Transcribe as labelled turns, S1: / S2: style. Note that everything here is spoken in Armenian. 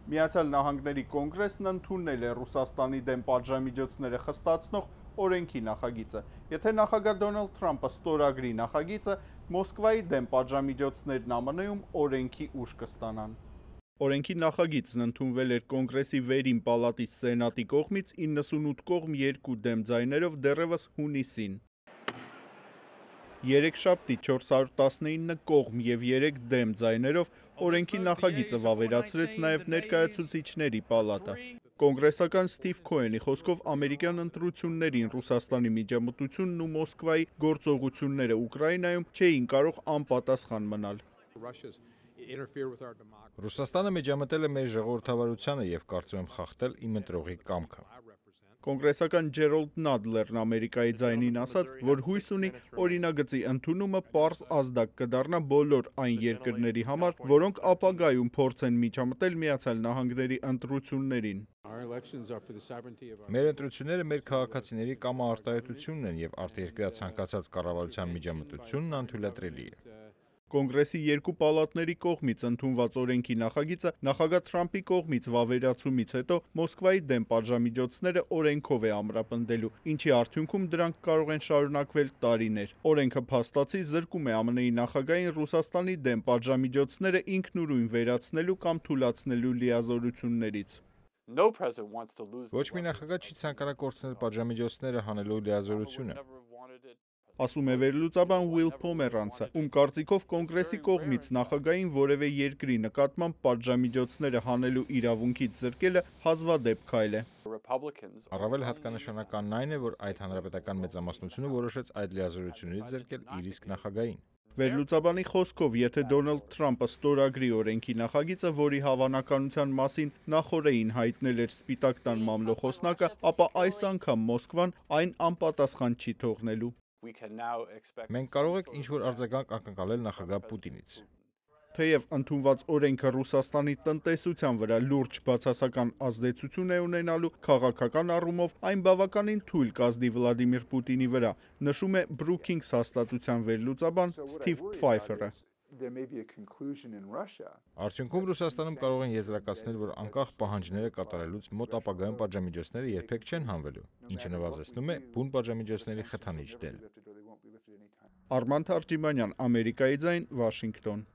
S1: Միացյալ Նահանգների կոնգրեսն ընդունել է Ռուսաստանի դեմ պատժամիջոցները խստացնող օրենքի նախագիծը։ Եթե նախագահ Դոնալդ Թրամփը ստորագրի նախագիծը, Մոսկվայի դեմ պատժամիջոցներն ԱՄՆ-ում օրենքի ուժ կստանան։ Օրենքի նախագիծն ընդունվել էր Կոնգրեսի վերին պալատի Սենատի կողմից 98 կողմ 2 դեմ ձայներով դեռևս հունիսին։ Երեքշաբթի 419 կողմ և 3 դեմ ձայներով օրենքի նախագիծը վավերացրեց նաև ներկայացուցիչների պալատը։ Կոնգրեսական Սթիվ Քոենի խոսքով ամերիկյան ընտրություններին Ռուսաստանի միջամտությունն ու Մոսկվայի գործողությունները Ուկրաինայում չէին կարող անպատասխան մնալ։
S2: Ռուսաստանը միջամտել է մեր ժողովրդավարությանը և կարծում եմ խախտել իմ ընտրողի կամքը։
S1: Կոնգրեսական Ջերոլդ Նադլերն Ամերիկայի ձայնին ասաց, որ հույս ունի օրինագծի ընդունումը պարզ ազդակ կդառնա բոլոր այն երկրների համար, որոնք ապագայում փորձեն միջամտել Միացյալ Նահանգների ընտրություններին։
S2: Մեր ընտրությունները մեր քաղաքացիների կամաարտահայտությունն են և արտերկրյա ցանկացած կառավարության միջամտությունն անթույլատրելի է։
S1: Կոնգրեսի երկու պալատների կողմից ընդունված օրենքի նախագիծը նախագահ Թրամփի կողմից վավերացումից հետո Մոսկվայի դեմ պատժամիջոցները օրենքով է ամրապնդելու, ինչի արդյունքում դրանք կարող են շարունակվել տարիներ։ Օրենքը փաստացի զրկում է ԱՄՆ-ի նախագահին Ռուսաստանի դեմ պատժամիջոցները ինքնուրույն վերացնելու կամ թուլացնելու լիազորություններից։
S2: Ոչ մի նախագահ չի ցանկանա կորցնել պատժամիջոցները հանելու լիազորությունը։
S1: Ասում է վերլուծաբան Ուիլ Փոմերանցը, ում կարծիքով Կոնգրեսի կողմից նախագահին որևէ երկրի նկատմամբ պատժամիջոցները հանելու իրավունքից զրկելը հազվադեպ քայլ է։
S2: Առավել հատկանշանականն այն է, որ այդ հանրապետական մեծամասնությունը որոշեց այդ լիազորություններից զրկել իր իսկ նախագահին։
S1: Վերլուծաբանի խոսքով, եթե Դոնալդ Թրամփը ստորագրի օրենքի նախագիծը, որի հավանականության մասին նախօրեին հայտնել էր Սպիտակ տան մամլոխոսնակը, ապա այս անգամ Մոսկվան այն անպատասխան չի թողնելու։
S2: Մենք կարող ենք ինչ-որ արձագանք ակնկալել նախագահ Պուտինից։
S1: Թեև ընդունված օրենքը Ռուսաստանի տնտեսության վրա լուրջ բացասական ազդեցություն է ունենալու, քաղաքական առումով այն բավականին թույլ կազդի Վլադիմիր Պուտինի վրա, նշում է Brookings հաստատության վերլուծաբան Սթիվ Փֆայֆերը։
S2: Արդյունքում Ռուսաստանում կարող են եզրակացնել, որ անկախ պահանջները կատարելուց մոտ ապագայում պատժամիջոցները երբեք չեն հանվելու, ինչը նվազեցնում է բուն պատժամիջոցների խթանիչ դերը։
S1: Արման Թարջիմանյան, Ամերիկայի ձայն, Վաշինգտոն։